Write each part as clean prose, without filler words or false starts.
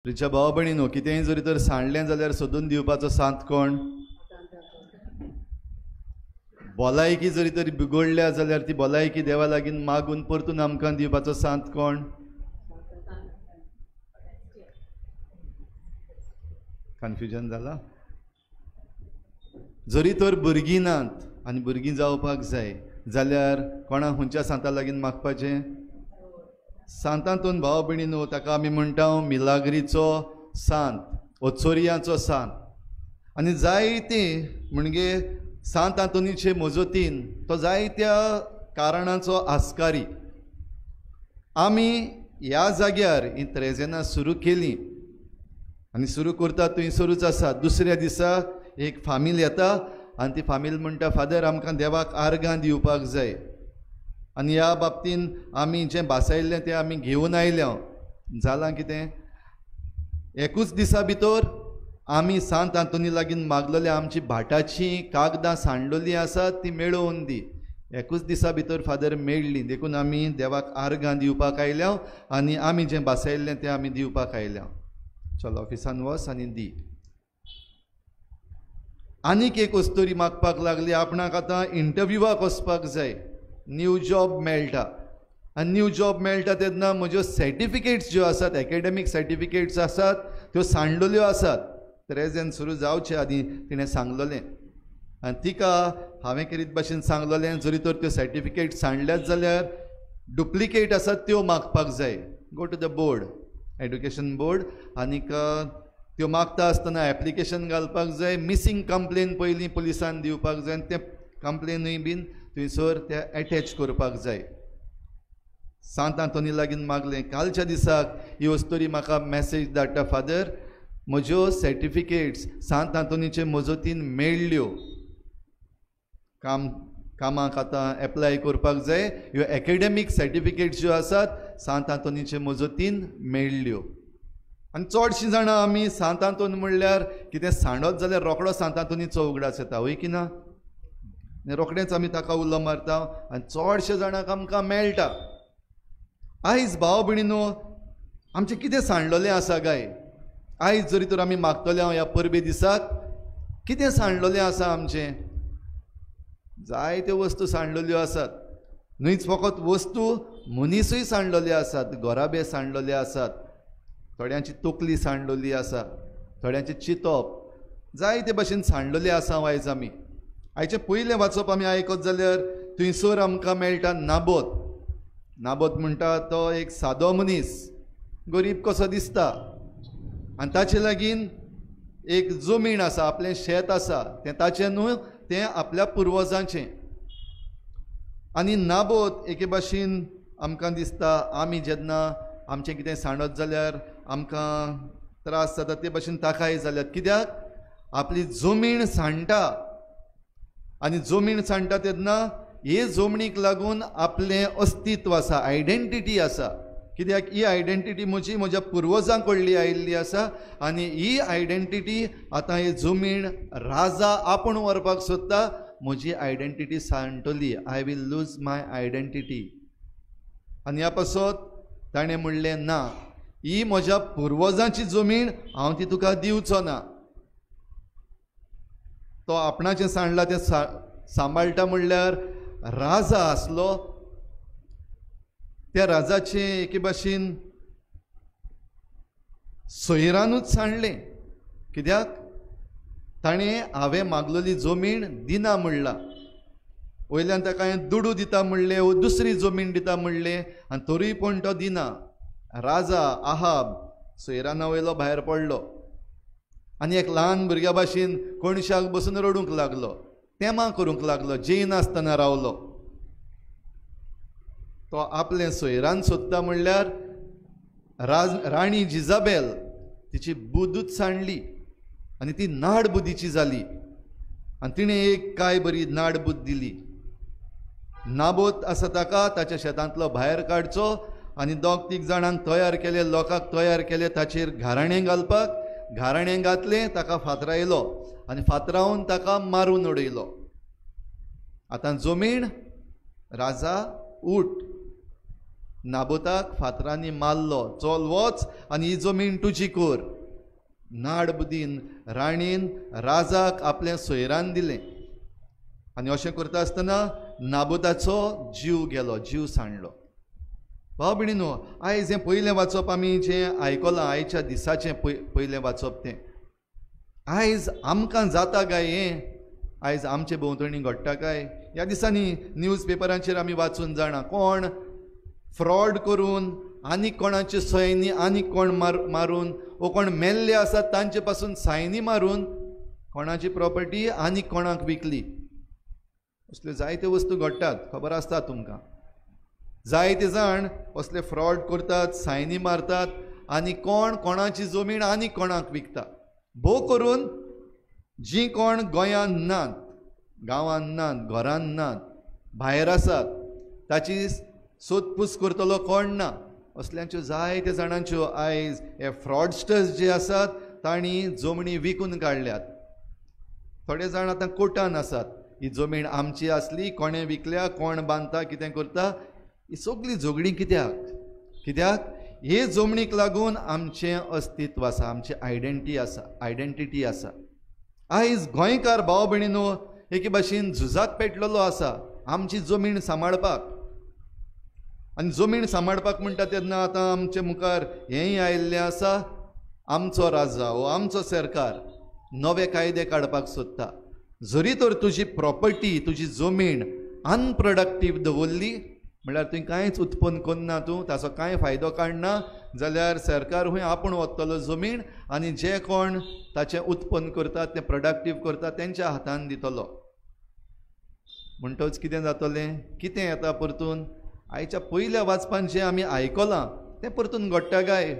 रिच्या भाव भयणीनो, कितेंय जरी तर सांडलें जाल्यार सोदून दिवपाचो सांत कोण? भलायकी जरी तरी बिगडल्या जाल्यार ती भलायकी देवा लागीं मागून परतून आमकां दिवपाचो सांत कोण? कन्फ्युजन जाला. जरी तर भुरगीं नात आनी भुरगीं जावपाक जाय जाल्यार कोणा खंयच्या सांता लागीं मागपाचें? सांतांतून भाव भयणीनो, ताका आमी म्हणटा मिलाग्रीचो सांत, ओचोरियांचो सांत. आनी जायते म्हणजे सांत आंतोनीचे मजतीन तो जायत्या कारणाचो आस्कारी. आमी ह्या जाग्यार ही त्रेजेनां सुरू केली आनी सुरू करता थंयसरूच आसा. दुसऱ्या दिसा एक फामील येता आनी ती फामील म्हणटा, फादर आमकां देवाक आर्गां दिवपाक जाय आनी ह्या बाबतीन आमी जें भासायल्लें तें आमी घेवन आयल्या. जालां कितें, एकूच दिसा भितर आमी सांत आंतोनी लागीं मागलेले आमची भाटाची कागदां सांडलेलीं आसात ती मेळोवन दी. एकूच दिसा भितर फादर मेळ्ळी, देखून आमी देवाक आर्गां दिवपाक आयल्या आनी आमी जें भासायल्लें तें आमी दिवपाक आयल्या. चल ऑफिसान वच आनी दी. आनीक एक अस्तोरी मागपाक लागली, आपणाक आतां इंटरव्युवाक वचपाक जाय, न्यू जॉब मेळटा आनी न्यू जॉब मेळटा तेन्ना म्हज्यो सर्टिफिकेट्स ज्यो आसात, एकेडमीक सर्टिफिकेट्स आसात त्यो सांडलेल्यो आसात. त्रेजेन सुरू जावचे आदीं तिणें सांगलेलें आनी तिका हांवें करीत भाशेन सांगलेलें, जरी तर त्यो सर्टिफिकेट सांडल्यात जाल्यार डुप्लिकेट आसात त्यो मागपाक जाय. Go to the board, education board, आनीक त्यो मागता आसतना एप्लिकेशन घालपाक जाय. मिसींग कंप्लेन पयलीं पुलिसान दिवपाक जाय आनी तें कंप्लेनूय बीन थंयसर ते एटॅच करपाक जाय. सांत आंतोनी लागीं मागलें. कालच्या दिसाक ही अस्तोरी म्हाका मॅसेज धाडटा, फादर म्हज्यो सर्टिफिकेट्स सांत आंतोनीचे मजतीन मेळ्ळ्यो, कामाक आतां एप्लाय करपाक जाय, ह्यो एकेडमीक सर्टिफिकेट्स ज्यो आसात सांत आंतोनीचे मजतीन मेळ्ळ्यो. आनी चडशीं जाणां आमी सांत आंतोन म्हणल्यार कितें सांडत जाल्यार रोकडो सांत आंतोनीचो उगडास येता, हय की ना? रोखडेंच आमी ताका उलो मारता आनी चडशे जाणांक आमकां मेळटा. आयज भाव भयणीनो, आमचें कितें सांडलेलें आसा काय? आयज जरी तर आमी मागतले हांव ह्या परबे दिसाक, कितें सांडलेलें आसा आमचें? जायत्यो वस्तू सांडलेल्यो आसात. न्हयच फकत वस्तू, मनीसूय सांडलेले आसात, घराबे सांडलेले आसात, थोड्यांची तकली सांडलेली आसा, थोड्यांचें चिंतप, जायते भाशेन सांडलेले आसा आयज आमी. आयचें पयलें वाचप आमी आयकत जाल्यार थंयसर आमकां मेळटा नाबोत. नाबोत म्हणटा तो एक सादो मनीस, गरीब कसो दिसता आनी ताचे लागीं एक जमीन आसा, आपलें शेत आसा, तें ताचें न्हू, तें आपल्या पुर्वजांचें. आनी नाबोत एके भाशेन आमकां दिसता, आमी जेन्ना आमचें कितें सांडत जाल्यार आमकां त्रास जाता ते भाशेन ताकाय जाल्यात. कित्याक? आपली जमीन सांडटा आनी जमीन सांडटा तेन्ना हे जमनीक लागून आपलें अस्तित्व आसा, आयडेंटिटी आसा. कित्याक? ही आयडेंटिटी म्हजी म्हज्या पुर्वजां कडली आयिल्ली आसा आनी ही आयडेंटिटी आतां ही जमीन राजा आपूण व्हरपाक सोदता, म्हजी identity सांडटली. I will lose my identity. आनी ह्या पासत ताणें म्हणलें, ना, ही म्हज्या पुर्वजांची जमीन, हांव ती तुका दिवचो ना. तो आपणाचें सांडला तें सांबाळटा म्हणल्यार राजा आसलो, त्या राजाचें एके भाशेन सोयरानूच सांडलें. कित्याक? ताणें हांवें मागलेली जमीन दिना म्हणला, वयल्यान ताका हांवें दुडू दिता म्हणलें वो दुसरी जमीन दिता म्हणलें आनी तरूय पूण तो दिना. राजा आहाब सोयराना वयलो भायर पडलो आनी एक ल्हान भुरग्या भाशेन कोणशाक बसून रडूंक लागलो, तेमां करूंक लागलो, जेयनासतना रावलो. तो आपलें सोयरान सोदता म्हणल्यार राणी जिजाबेल तिची बुदूच सांडली आनी ती नाडबुदीची जाली आनी तिणें एक काय बरी नाडबूद दिली. नाबोत आसा ताका ताच्या शेतांतलो भायर काडचो आनी दोग तीग जाणांक तयार केले, लोकांक तयार केले ताचेर घाराणें घालपाक. घाराणें घातलें, ताका फातरायलो आनी फातरावन ताका मारून उडयलो. आतां जमीन राजा उठ. नाबोताक फातरांनी मारलो, चल वच आनी ही जमीन तुजी कर. नाडबुदीन राणीन राजाक आपलें सोयरान दिलें आनी अशें करता आसतना नाबोताचो जीव गेलो, जीव सांडलो. भाव भयणीनो, आयज हें पयलें वाचप आमी जें आयकलां, आयच्या दिसाचें पयलें वाचप तें आयज आमकां जाता काय? हें आयज आमचे भोंवतणी घडटा काय? ह्या दिसांनी न्यूज पेपरांचेर आमी वाचून जाणा, कोण फ्रॉड करून आनी कोणाचे सयनी आनी कोण मारून वो कोण मेल्ले आसात तांचे पासून सायनी मारून कोणाची प्रॉपर्टी आनी कोणाक विकली. असल्यो जायत्यो वस्तू घडटात, खबर आसता तुमकां. जायते जाण असले फ्रॉड करतात, सायनी मारतात आनी कोण कोणाची जमीन आनी कोणाक विकता. भोव करून जीं कोण गोंयांत नात, गांवांत नात, घरांत नात, भायर आसात, ताची सोदपूस करतलो कोण ना. असल्यांच्यो जायत्या जाणांच्यो आयज हे फ्रॉडस्टर्स जे आसात तांणी जमणी विकून काडल्यात. थोडे जाण आतां कोर्टान आसात, ही जमीन आमची आसली, कोणें विकल्या, कोण बांदता, कितें करता. ही सगळीं झगडीं कित्याक? कित्याक हे जमणीक लागून आमचें अस्तित्व आसा, आमची आयडेंटी आसा, आयडेंटिटी आसा. आयज गोंयकार भाव भयणीनो एके भाशेन झुजाक पेटलेलो आसा आमची जमीन सांबाळपाक. आनी जमीन सांबाळपाक म्हणटा तेन्ना आतां आमचे मुखार हेंय आयिल्लें आसा, आमचो राजा वो आमचो सरकार नवे कायदे काडपाक सोदता. जरी तर तुजी प्रॉपर्टी, तुजी जमीन अनप्रोडक्टीव दवरली म्हणल्यार तुवें कांयच उत्पन्न करना, तूं ताचो कांय फायदो काडना जाल्यार सरकार हुंय आपूण वतलो जमीन आनी जे कोण ताचें उत्पन्न करतात, तें प्रोडक्टीव करतात तेंच्या हातान दितलो. म्हणटच कितें जातलें? कितें येता परतून? आयच्या पयल्या वाचपान जें आमी आयकलां तें परतून घडटा काय?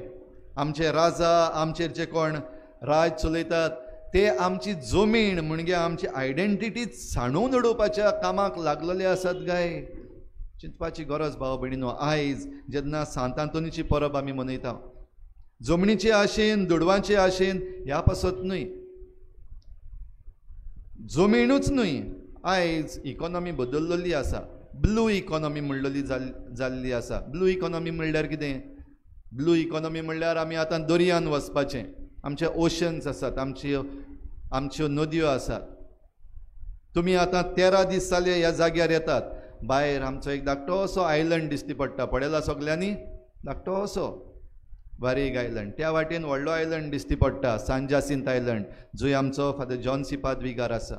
आमचे राजा, आमचेर जे कोण राज चलयतात ते आमची जमीन म्हणजे आमची आयडेंटिटी सांडून उडोवपाच्या कामाक लागलेले आसात काय? चिंतपाची गरज भाव भयणीनो. आयज जेन्ना सांत आंतोनीची परब आमी मनयता, जमनीचे आशेन, दुडवांचे आशेन ह्या पासत न्हय, जमीनूच न्हय, आयज इकॉनॉमी बदल्लेली आसा. ब्लू इकॉनॉमी म्हणलेली जाल्ली आसा. ब्लू इकॉनॉमी म्हणल्यार कितें? ब्लू इकॉनॉमी म्हणल्यार आमी आतां दर्यान वचपाचें, आमचे ओशन्स आसात, आमच्यो नदयो आसात. तुमी आतां 13 दीस जाले ह्या जाग्यार येतात, भायर आमचो एक धाकटो असो आयलंड दिसती पडटा, पळयला सगल्यांनी? धाकटो असो बारीक आयलंड. त्या वाटेन व्हडलो आयलंड दिसती पडटा, सान जासिंत आयलंड, जंय आमचो फादर जॉन सी पादविगार आसा.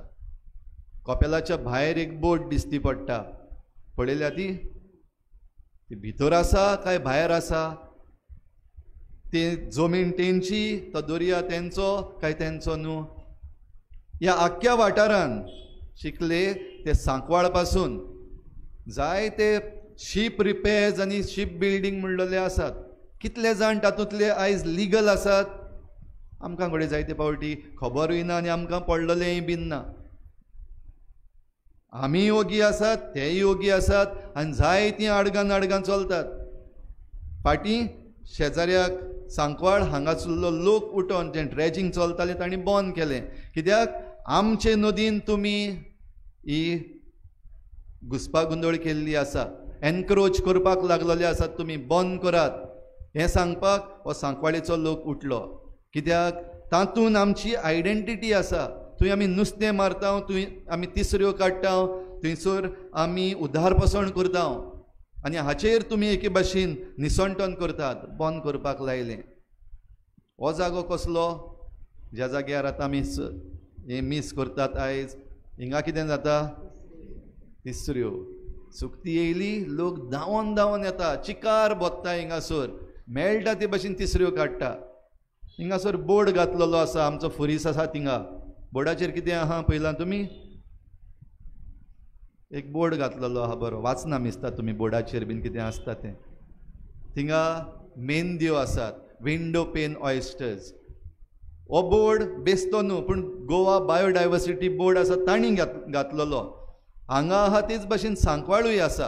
कपेलाच्या भायर एक बोट दिसती पडटा, पळयल्या ती? ती भितर आसा काय भायर आसा? ती जमीन तेंची, तो दर्या तेंचो काय तेंचो न्हू? ह्या आख्ख्या वाठारान शिकले ते सांकवाळ पासून जायते शीप रिपेर्स आनी शीप बिल्डींग म्हणलेले आसात. कितले जाण तातूंतले आयज लिगल आसात आमकां घडये जायते फावटी खबरूय ना आनी आमकां पडलेलेंय बीन ना. आमी योगी आसात, तेय योगी आसात आनी जायतीं आडगां नाडगां चलतात. फाटीं शेजाऱ्याक सांकवाळ हांगासरलो लोक उठोन जें ड्रेजिंग चलतालें तांणी बंद केलें. कित्याक? आमचे नदीन तुमी ही घुस्पागोंदळ केल्ली आसा, एनक्रोच करपाक लागलेले आसात, तुमी बंद करात हें सांगपाक हो सांकवाळेचो लोक उठलो. कित्याक? तातूंत आमची आयडेंटिटी आसा. थंय आमी नुस्तें मारता, थंय आमी तिसऱ्यो काडटा, थंयसर आमी उदारपसण करता आनी हाचेर तुमी एके भाशेन निसणटन करतात. बंद करपाक लायलें. हो जागो कसलो? ज्या जाग्यार आतां आमी हें मीस करतात आयज, हिंगा कितें जाता? तिसऱ्यो. सुकती येयली, लोक धांवन धांवन येता, चिकार बोत्ता, हिंगासर मेळटा ते भाशेन तिसऱ्यो काडटा. हिंगासर बोर्ड घातलेलो आसा, आमचो फुरीस आसा थिंगा. बोर्डाचेर कितें आहा पळयलां तुमी? एक बोर्ड घातलेलो आहा, बरो वाचना मिसता तुमी बोर्डाचेर बीन कितें आसता तें. थिंगा मेंदयो आसात, विंडो पेन ऑयस्टर्स. हो बोर्ड बेस्तो न्हू, पूण गोवा बायोडायवर्सिटी बोर्ड आसा तांणी घातलेलो. हांगा आहा तेच भाशेन सांकवाळूय आसा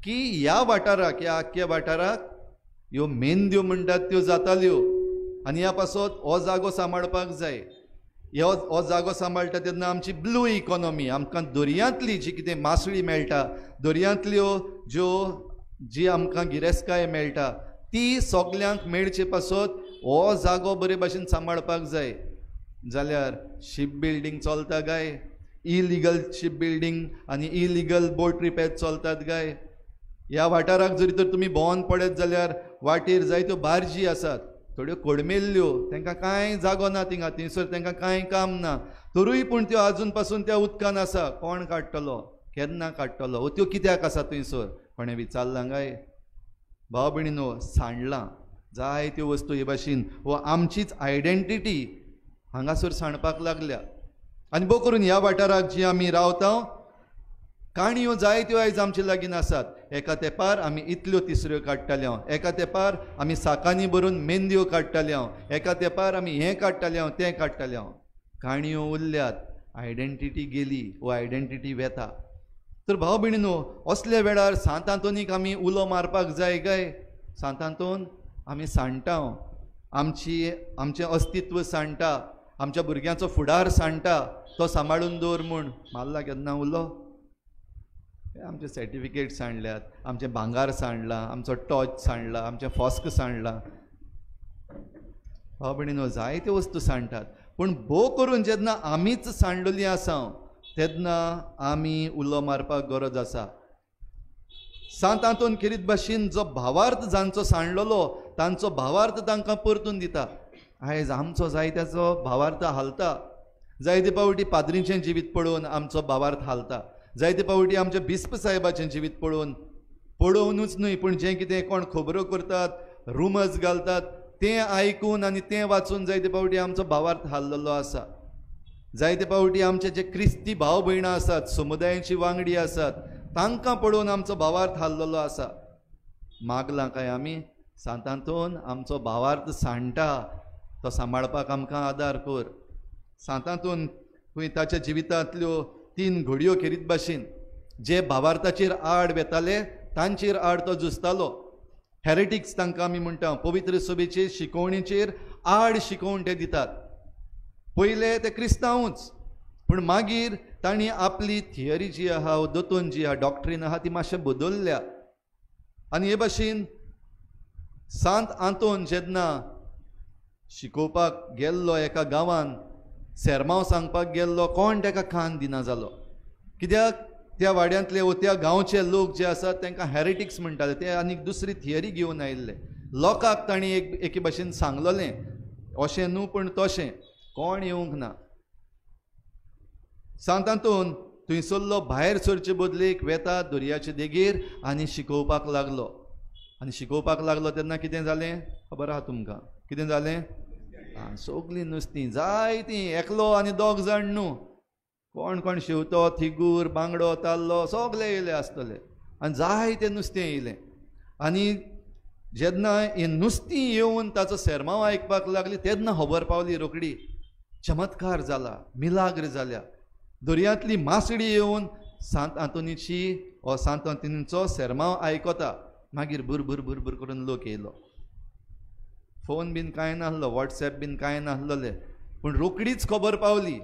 की ह्या वाठाराक, ह्या आख्ख्या वाठाराक ह्यो मेंदयो म्हणटात त्यो जाताल्यो आनी ह्या पासत हो जागो सांबाळपाक जाय. हो जागो सांबाळटा तेन्ना आमची ब्लू इकॉनॉमी, आमकां दर्यांतली जी कितें मासळी मेळटा, दर्यांतल्यो ज्यो जी आमकां गिरेस्तकाय मेळटा ती सगल्यांक मेळचे पासत हो जागो बरे भाशेन सांबाळपाक जाय. जाल्यार शीप बिल्डींग चलता काय? इलिगल शीप बिल्डींग आनी इलिगल बोट रिपेर चलतात काय? ह्या वाठाराक जरी तर तुमी भोंवन पळयत जाल्यार वाटेर जायत्यो बार्जी आसात, थोड्यो कोडमेल्ल्यो, तांकां कांय जागो ना थिंगा, थंयसर तांकां कांय काम ना, तरूय पूण त्यो आजून पासून त्या उदकान आसा. कोण काडटलो, केन्ना काडटलो, त्यो कित्याक आसा थंयसर, कोणें विचारलां काय? भाव भयणीनो, सांडलां जायत्यो वस्तू हे भाशेन हो आमचीच आयडेंटिटी हांगासर सांडपाक लागल्या. आनी भोव करून ह्या वाठाराक जी आमी रावता काणयो जायत्यो आयज आमचे लागीं आसात. एका तेंपार आमी इतल्यो तिसऱ्यो काडटाले, एका तेंपार आमी साकांनी भरून मेंदयो काडटाले, एका तेंपार आमी हें काडटाले तें काडटाले. काणयो उरल्यात, आयडेंटिटी गेली, वो आयडेंटिटी वेता. तर भाव भयणीनो, असल्या वेळार सांत आंतोनीक आमी उलो मारपाक जाय काय? सांत आंतोन आमी सांडटा, आमची आमचें अस्तित्व सांडटा, आमच्या भुरग्यांचो फुडार सांडटा, तो सांबाळून दवर म्हूण मारला केन्ना उलो? आमचे सर्टिफिकेट सांडल्यात, आमचें भांगार सांडलां, आमचो टॉर्च सांडला, आमचें फॉस्क सांडलां. भाव भयणीनो, जायत्यो वस्तू सांडटात, पूण भोव करून जेन्ना आमीच सांडलेली आसा तेन्ना आमी उलो मारपाक गरज आसा. सांत आंतोन खेरीत भाशेन जो भावार्थ जांचो सांडलेलो तांचो भावार्थ तांकां परतून दिता. आयज आमचो जायत्याचो भावार्थ हालता. जायते पावटी पाद्रींचें जिवीत पळोवन आमचो भावार्थ हालता, जायते पावटी आमच्या बिस्प साहेबाचें जिवीत पळोवन, पळोवनूच न्हय पूण जें कितें कोण खबरो करतात, रुमर्स घालतात तें आयकून आनी तें वाचून जायते पावटी आमचो भावार्थ हाललेलो आसा. जायते पावटी आमचे जे क्रिस्ती भाव भयणां आसात, समुदायाची वांगडी आसात, तांकां पळोवन आमचो भावार्थ हाललेलो आसा. मागलां काय आमी सांत आंतोन आमचो भावार्थ सांडटा, तो सांबाळपाक आमकां आदार कर. सांत आंतोन खंय ताच्या जिवितांतल्यो 3 घडयो खेरीत भाशेन जे भावार्थाचेर आड वेताले तांचेर आड तो झुजतालो. हेरेटिक्स तांकां आमी म्हणटा, पवित्र सभेचेर शिकोवणेचेर आड शिकोवण ते दितात. पयले ते क्रिस्तांवूच, पूण मागीर तांणी आपली थियरी जी आहा, दोतोन जी आहा, डॉक्ट्रीन आहा, ती मातशें बदलल्या. आनी हे भाशेन सांत आंतोन जेन्ना शिकोवपाक गेल्लो एका गांवान, सेरमांव सांगपाक गेल्लो, कोण ताका कान दिना जालो. कित्याक त्या वाड्यांतले वो त्या गांवचे लोक जे आसात तांकां हेरेटिक्स म्हणटाले, ते आनीक दुसरी थियरी घेवन आयिल्ले. लोकांक तांणी एके भाशेन सांगलेलें अशें न्हू पूण तशें, कोण येवंक ना. सांत आंतोन थंयसरलो भायर सरचे बदलेक वेता दर्याचे देगेर आनी शिकोवपाक लागलो. आनी शिकोवपाक लागलो तेन्ना कितें जालें खबर आहा तुमकां? कितें जालें? सगलीं नुस्तीं जायतीं, एकलो आनी दोग जाण न्हू, कोण कोण शेवतो, थिगूर, बांगडो, ताल्लो सगले येयले आसतले आनी जायतें नुस्तें येयलें. आनी जेन्ना हें नुस्तीं येवन ताचो सेरमांव आयकपाक लागली तेन्ना खबर पावली रोखडी, चमत्कार जाला, मिलाग्र जाल्या. दर्यांतली मासडी येवन सांत आंतोनीची वो सांत आंतोनीचो सेरमांव आयकता. मागीर भुरभुर भुरभुर करून लोक येयलो. फोन बीन कांय नासलो, वॉट्सएप बीन कांय नासलें, पूण रोखडीच खबर पावली.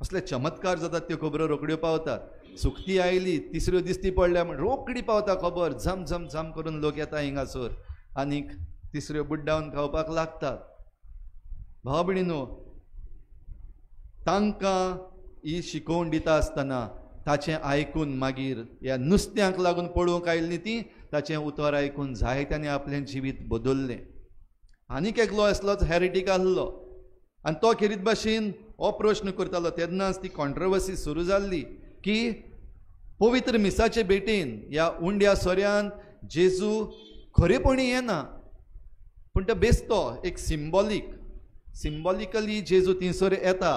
असले चमत्कार जातात, त्यो खबरो रोखड्यो पावतात. सुकती आयली, तिसऱ्यो दिसती पडल्या म्हण रोखडी पावता खबर, झम झम झम करून लोक येता हिंगासर आनीक तिसऱ्यो बुड्डावन खावपाक लागतात. भाव भयणीनो, तांकां ही शिकोवण दिता आसतना ताचें आयकून मागीर ह्या नुस्त्यांक लागून पळोवंक आयिल्लीं तीं ताचें उतर आयकून जायत्यांनी आपलें जिवीत बदललें. आनीक एकलो असलोच हेरेटीक आसलो आनी तो खेरीत भाशेन हो प्रश्न करतालो. तेन्नाच ती कॉन्ट्रवर्सी सुरू जाल्ली की पवित्र मिसाचे भेटेन ह्या उंड्या सोऱ्यान जेजू खरेपणी येना, पूण तो बेस्तो एक सिम्बॉलिकली जेजू थंयसर येता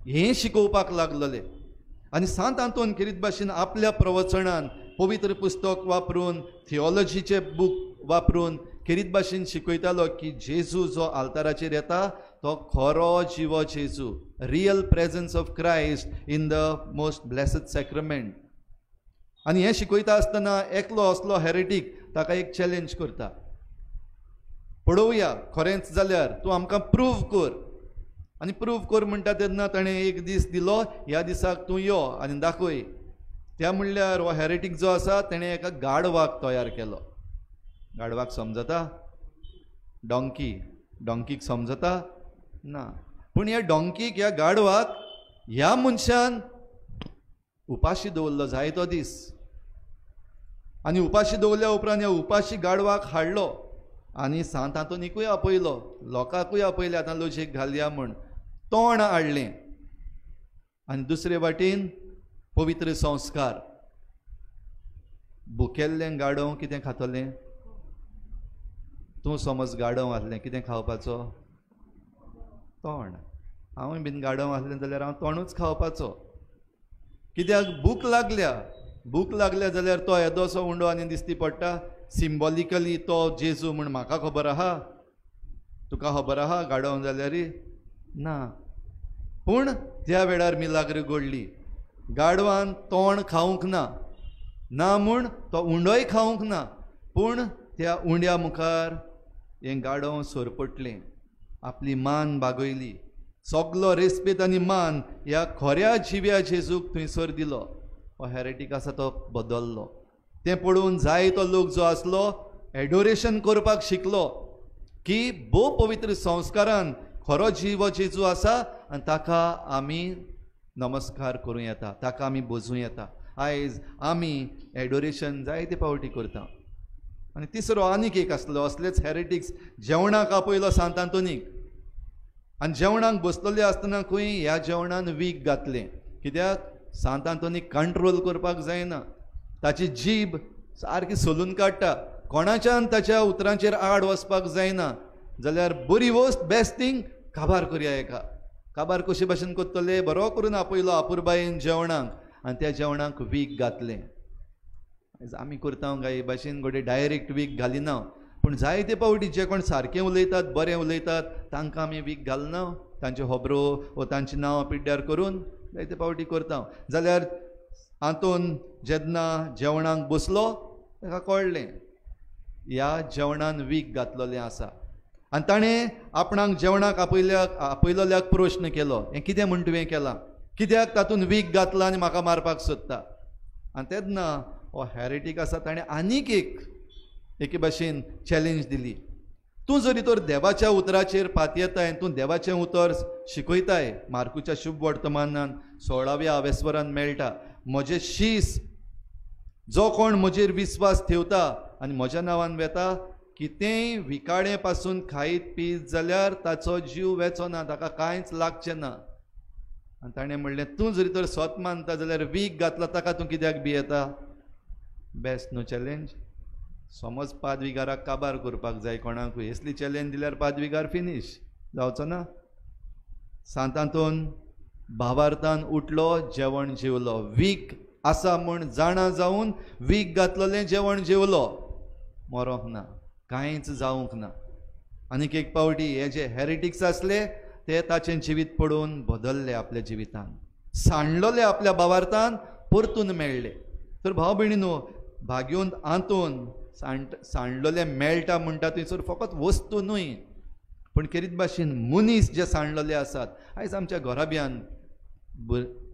हें शिकोवपाक लागलेले. आनी सांत आंतोन खेरीत भाशेन आपल्या प्रवचनान पवित्र पुस्तक वापरून, थियोलॉजीचे बूक वापरून खेरीत भाशेन शिकयतालो की जेजू जो आल्ताराचेर येता तो खरो जिवो जेजू, real presence of Christ in the most blessed sacrament. आनी हें शिकयता आसतना एकलो असलो हेरेटीक ताका एक चॅलेंज करता, पळोवया खरेंच जाल्यार तूं आमकां प्रूव कर. आनी प्रूव कर म्हणटा तेन्ना ताणें एक दीस दिलो, ह्या दिसाक तूं यो आनी दाखय. त्या म्हणल्यार हो हेरेटीक जो आसा तेणें एका गाडवाक तयार केलो. गाडवाक समजता? डोंकी, डोंकीक समजता ना. पूण ह्या डोंकीक, ह्या गाडवाक ह्या मनशान उपाशी दवरलो जायतो दीस. आनी उपाशी दवरल्या उपरांत ह्या उपाशी गाडवाक हाडलो आनी सांत आंतोनीकूय आपयलो, लोकांकूय आपयले, आतां लोजेक घालया म्हूण तोंड हाडलें. आनी दुसरे वाटेन पवित्र संस्कार. भुकेल्लें गाडव कितें खातलें? तूं समज गाडव आसलें कितें खावपाचो? तोंड. हांवूय बीन गाडव आसलें जाल्यार हांव तोंडूच खावपाचो. कित्याक? भूक लागल्या. भूक लागल्या जाल्यार तो येदोसो उंडो आनी दिसती पडटा. सिम्बॉलिकली तो जेजू म्हूण म्हाका खबर आहा, तुका खबर आहा गाडव जाल्यार ना. पूण त्या वेळार मिलाग्र घडली. गाडवान तोंड खावंक ना, ना म्हूण तो उंडोय खावंक ना, पूण त्या उंड्या मुखार हें गाडव सरपटलें, आपली मान बागयली. सगलो रेस्पेद आनी मान ह्या खऱ्या जिव्या जेजूक थंयसर दिलो. हो हेरेटीक आसा तो बदल्लो. तें पळोवन जायतो लोक जो आसलो एडोरेशन करपाक शिकलो की भोव पवित्र संस्कारान खरो जीव जेजू आसा आनी ताका आमी नमस्कार करूं येता, ताका आमी बोजूं येता. आयज आमी एडोरेशन जायते फावटी करता. आनी तिसरो आनीक एक आसलो असलेच हेरेटिक्स जेवणाक आपयलो सांत आंतोनीक. आनी जेवणाक बसलेले आसतना खंय ह्या जेवणान वीख घातलें. कित्याक? सांत आंतोनीक कंट्रोल करपाक जायना, ताची जीब सारकी सोलून काडटा, कोणाच्यान ताच्या उतरांचेर आड वचपाक जायना. जाल्यार बरी वस्त, बेस्ट थींग, काबार करया एका. काबार कशे भाशेन करतले? बरो करून आपयलो आपुरबायेन जेवणाक आनी त्या जेवणाक वीख घातलें. आमी करता काय हे भाशेन? घडये डायरेक्ट वीख घालिना, पूण जायते फावटी जे कोण सारकें उलयतात, बरें उलयतात, तांकां आमी वीख घालना, तांच्यो खबरो वो तांचीं नांवां पिड्ड्यार करून जायते फावटी करता. जाल्यार आंतोन जेन्ना जेवणाक बसलो ताका कळ्ळें ह्या जेवणान वीख घातलेलें आसा. आनी ताणें आपणाक जेवणाक आपयलोल्याक प्रश्न केलो, हें कितें म्हूण तुवें केलां? कित्याक तातूंत वीख घातलां आनी म्हाका मारपाक सोदता? आनी तेन्ना हो हेरेटीक आसा ताणें आनीक एके भाशेन चॅलेंज दिली. तूं जरी तर देवाच्या उतराचेर पातयेताय, तूं देवाचें उतर शिकयताय, मार्कुच्या शुभ वर्तमानान 16व्या आवेस्वरान मेळटा, म्हजें शीस जो कोण म्हजेर विस्वास ठेवता आनी म्हज्या नांवान वेता, कितेंय विकाळे पासून खायत पीत जाल्यार ताचो जीव वेचो ना, ताका कांयच लागचें ना. आनी ताणें म्हणलें, तूं जरी तर सत मानता जाल्यार वीख घातला ताका तूं कित्याक भियेता? बेस्ट न्हू चॅलेंज. समज पादविगाराक काबार करपाक जाय कोणाकूय, असली चॅलेंज दिल्यार पादविगार फिनीश जावचो ना. सांत आंतोन भावार्थान उठलो, जेवण जेवलो, वीख आसा म्हूण जाणा जावन वीख घातलेलें जेवण जेवलो, मरोंक ना, कांयच जावंक ना. आनीक एक फावटी हे जे हेरेटिक्स आसले ते ताचें जिवीत पळोवन बदल्ले, आपल्या जिवितान सांडलोले, आपल्या भावार्थान परतून मेळ्ळे. तर भाव भयणीनो, भाग्योन आंतोन सांडलोले मेळटा म्हणटा थंयसर फकत वस्तू न्हय, पूण खेरीत भाशेन मनीस जे सांडलोले आसात. आयज आमच्या घराब्यान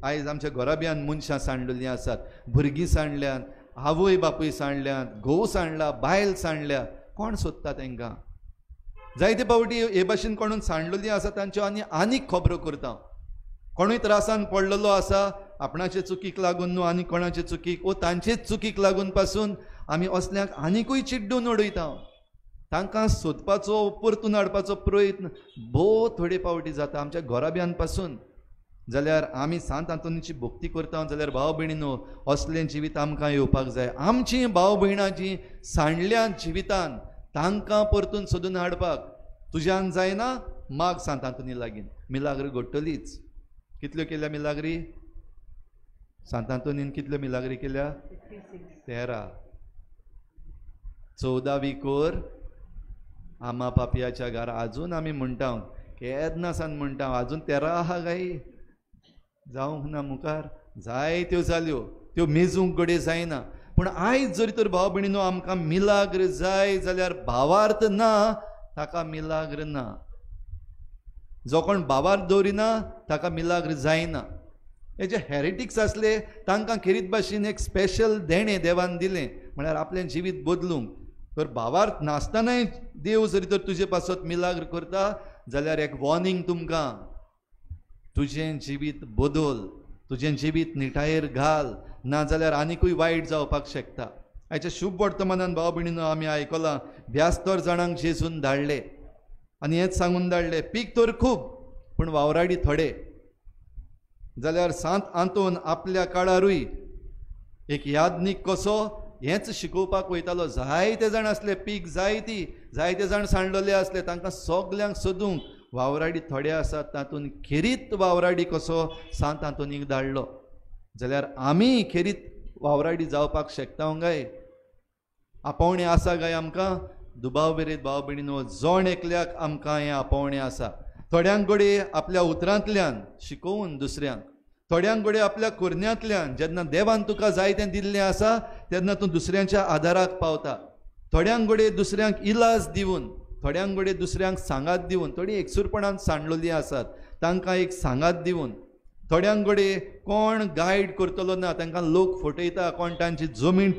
आयज आमच्या घराब्यान मनशां सांडलेलीं आसात, भुरगीं सांडल्यात, आवय बापूय सांडल्यात, घोव सांडला, बायल सांडल्या. कोण सोदता तांकां? जायते फावटी हे भाशेन कोणून सांडलेलीं आसा तांच्यो आनी आनीक खबरो करता. कोणूय त्रासान पडलेलो आसा आपणाचे चुकीक लागून न्हू आनी कोणाचे चुकीक वो तांचेच चुकीक लागून पासून आमी असल्यांक आनिकूय चिड्डून उडयता. तांकां सोदपाचो, परतून हाडपाचो प्रयत्न भोव थोडे फावटी जाता आमच्या घराब्यान पासून. जाल्यार आमी सांत आंतोनीची भक्ती करता जाल्यार भाव भयणीनो, असलें जिवीत आमकां येवपाक जाय. आमची भाव भयणां जीं सांडल्यात जिवितान तांकां परतून सोदून हाडपाक तुज्यान जायना, माग सांत आंतोनी लागीं. मिलाग्र घडटलीच. कितल्यो केल्या मिलाग्री सांत आंतोनीन? कितल्यो मिलाग्री केल्या? 13. 14वी कोर आमा पापयाच्या घरा. आजून आमी म्हणटा, केन्ना सान म्हणटा, आजून 13 आहा गाई, जावंक ना मुखार. जायत्यो जाल्यो, त्यो मेजूंक घडये जायना. पूण आयज जरी तर भाव भयणीनो आमकां मिलाग्र जाय जाल्यार भावार्थ ना ताका मिलाग्र ना. जो कोण भावार्थ दवरिना ताका मिलाग्र जायना. हे जे हेरेटिक्स आसले तांकां खेरीत भाशेन एक स्पेशल देणें देवान दिलें, म्हळ्यार आपलें जिवीत बदलूंक. तर भावार्थ नासतनाय देव जरी तर तुजे पासत मिलाग्र करता जाल्यार एक वॉर्निंग तुमकां, तुजें जिवीत बदल, तुजें जिवीत निटायेर घाल, नाजाल्यार आनिकूय वायट जावपाक शकता. आयच्या शुभ वर्तमानान भाव भयणीनो आमी आयकलां 72 जाणांक जेजून धाडले आनी हेंच सांगून धाडले, पीक तर खूब पूण वावराडी थोडे. जाल्यार सांत आंतोन आपल्या काळारूय एक यादनीक कसो हेंच शिकोवपाक वयतालो. जायते जाण आसले, पीक जायती, जायते जाण सांडलेले आसले, तांकां सगल्यांक सोदूंक वावराडी थोडे आसात, तातूंत खेरीत वावराडी कसो सांत आंतोनीक धाडलो. जाल्यार आमी खेरीत वावराडी जावपाक शकता काय? आपोवणें आसा काय आमकां? दुबाव बेरीत भाव भयणीनो, जण एकल्याक आमकां हें आपोवणें आसा. थोड्यांक घडये आपल्या उतरांतल्यान शिकोवन दुसऱ्यांक, थोड्यांक घडये आपल्या कोरण्यांतल्यान, जेन्ना देवान तुका जाय तें दिल्लें आसा तेन्ना तूं दुसऱ्यांच्या आदाराक पावता. थोड्यांक घडये दुसऱ्यांक इलाज दिवन, थोड्यांक घडये दुसऱ्यांक सांगात दिवन, थोडीं एकसूरपणान सांडलेलीं आसात तांकां एक सांगात दिवन, थोड्यांक घडये कोण गायड करतलो ना, तांकां लोक फटयता, कोण तांची जमीन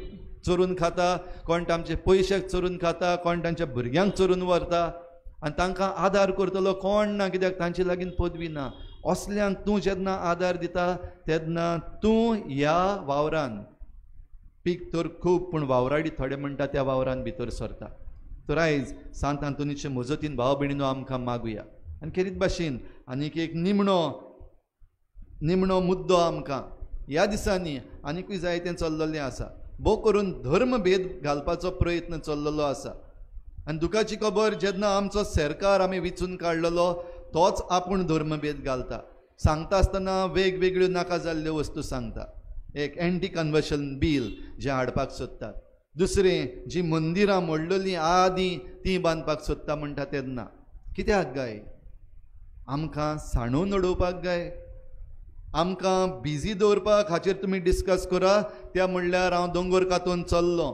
चोरून खाता, कोण तांचे पयशे चोरून खाता, कोण तांच्या भुरग्यांक चोरून व्हरता आनी तांकां आदार करतलो कोण ना, कित्याक तांचे लागीं पदवी ना. असल्यांक तूं जेन्ना आदार दिता तेन्ना तूं ह्या वावरान, पीक तर खूब पूण वावराडी थोडे म्हणटा त्या वावरान भितर सरता. तर आयज सांत आंतोनीचे मजतीन भाव भयणीनो आमकां मागुया. आनी खेरीत भाशेन आनीक एक निमणो मुद्दो आमकां ह्या दिसांनी आनिकूय जायतें चल्लेलें आसा. भोव करून धर्मभेद घालपाचो प्रयत्न चल्लेलो आसा. आनी दुखाची खबर, जेन्ना आमचो सरकार आमी विचून काडलेलो तोच आपूण धर्मभेद घालता. सांगता आसतना वेगवेगळ्यो नाका जाल्ल्यो वस्तू सांगता. एक एंटी कन्वर्शन बील जें हाडपाक सोदतात, दुसरें जी मंदिरां मोडलेलीं आदीं तीं बांदपाक सोदता म्हणटा. तेन्ना कित्याक गाय आमकां सांडून उडोवपाक गाय, आमकां बिजी दवरपाक? हाचेर तुमी डिस्कस करा. त्या म्हणल्यार हांव दोंगर कातून चल्लो,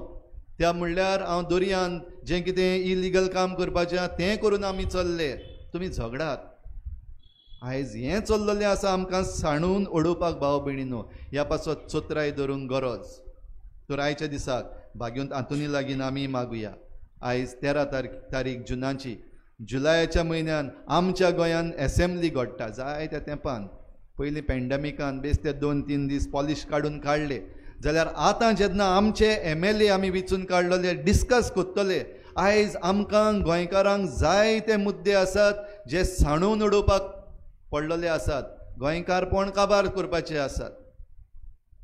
त्या म्हणल्यार हांव दर्यान जें कितें इलिगल काम करपाचें आहा तें करून आमी चल्ले. तुमी झगडात. आयज हें चल्लेलें आसा आमकां सांडून उडोवपाक भाव भयणीनो, ह्या पासत चतुराय धरूंक गरज. तर आयच्या दिसाक भाग्यवंत आंतोनी लागीं आमी मागुया. आयज 13 तारीख जुनाची, जुलयाच्या म्हयन्यान आमच्या गोंयान एसेंब्ली घडटा. जायत्या तेंपान पयलीं पॅन्डेमिकान बेस ते 2-3 दीस पॉलिश काडून काडले. जाल्यार आतां जेन्ना आमचे MLA आमी विचून काडलेले डिस्कस करतले, आयज आमकां गोंयकारांक जायते मुद्दे आसात जे सांडून उडोवपाक पडलेले आसात. गोंयकारपण काबार करपाचे आसात,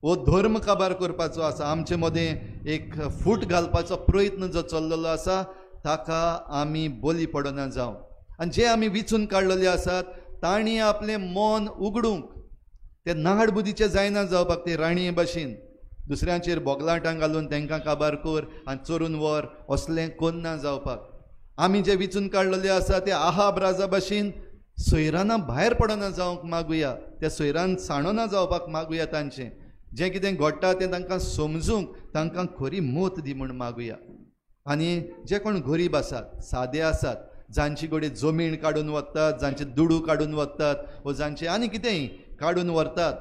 हो धर्म काबार करपाचो आसा. आमचे मदें एक फूट घालपाचो प्रयत्न जो चल्लेलो आसा ताका आमी बली पडना जावं. आनी जे आमी विचून काडलेले आसात तांणी आपलें मन उगडूंक, ते नाडबुदीचे जायना जावपाक, ते राणये भाशेन दुसऱ्यांचेर बोगलाटां घालून तांकां काबार कर आनी चोरून व्हर असलें कोन्ना जावपाक. आमी जे विचून काडलेले आसा ते आहाब राजा भाशेन सोयराना भायर पडना जावंक मागुया, त्या सोयरान सांडना जावपाक मागुया. तांचें जें कितें घडटा तें तांकां समजूंक, तांकां खरी मत दी म्हूण मागुया. आनी जे कोण गरीब आसात, सादे आसात, जांची कडेन जमीन काडून वतात, जांचे दुडू काडून वतात वो जांचे आनी कितेंय काडून व्हरतात,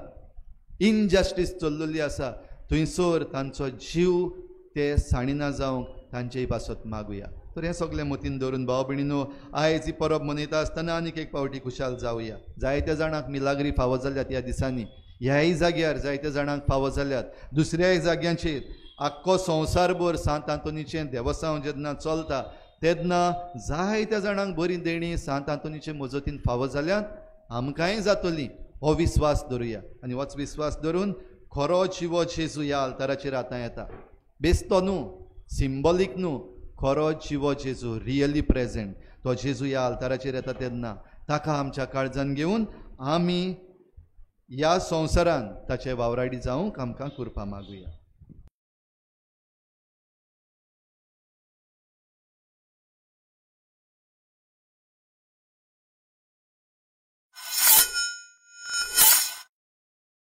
इनजस्टीस चल्लेली आसा थंयसर तांचो जीव ते सांडिना जावंक तांचेय पासत मागुया. तर हें सगळें मतीन धरून भाव भयणीनो आयज ही परब मनयता आसतना आनीक एक फावटी खुशाल जावया. जायत्या जाणांक मिलाग्री फावो जाल्यात ह्या दिसांनी, ह्याय जाग्यार जायत्या जाणांक फावो जाल्यात, दुसऱ्याय जाग्यांचेर. आख्खो संवसारभर सांत आंतोनीचें देवसांव जेन्ना चलता तेन्ना जायत्या जाणांक बरी देणी सांत आंतोनीचे मजतीन फावो जाल्यात, आमकांय जातली हो विस्वास धरुया. आनी होच विस्वास धरून खरो जिवो जेजू ह्या आल्ताराचेर आतां येता. बेस्तो न्हू, सिंबॉलीक न्हू, खरो जिवो जेजू रियली प्रेजेंट तो जेजू ह्या आल्ताराचेर येता तेन्ना ताका आमच्या काळजान घेवन आमी ह्या संवसारान ताचे वावराडी जावंक आमकां कृपा मागुया.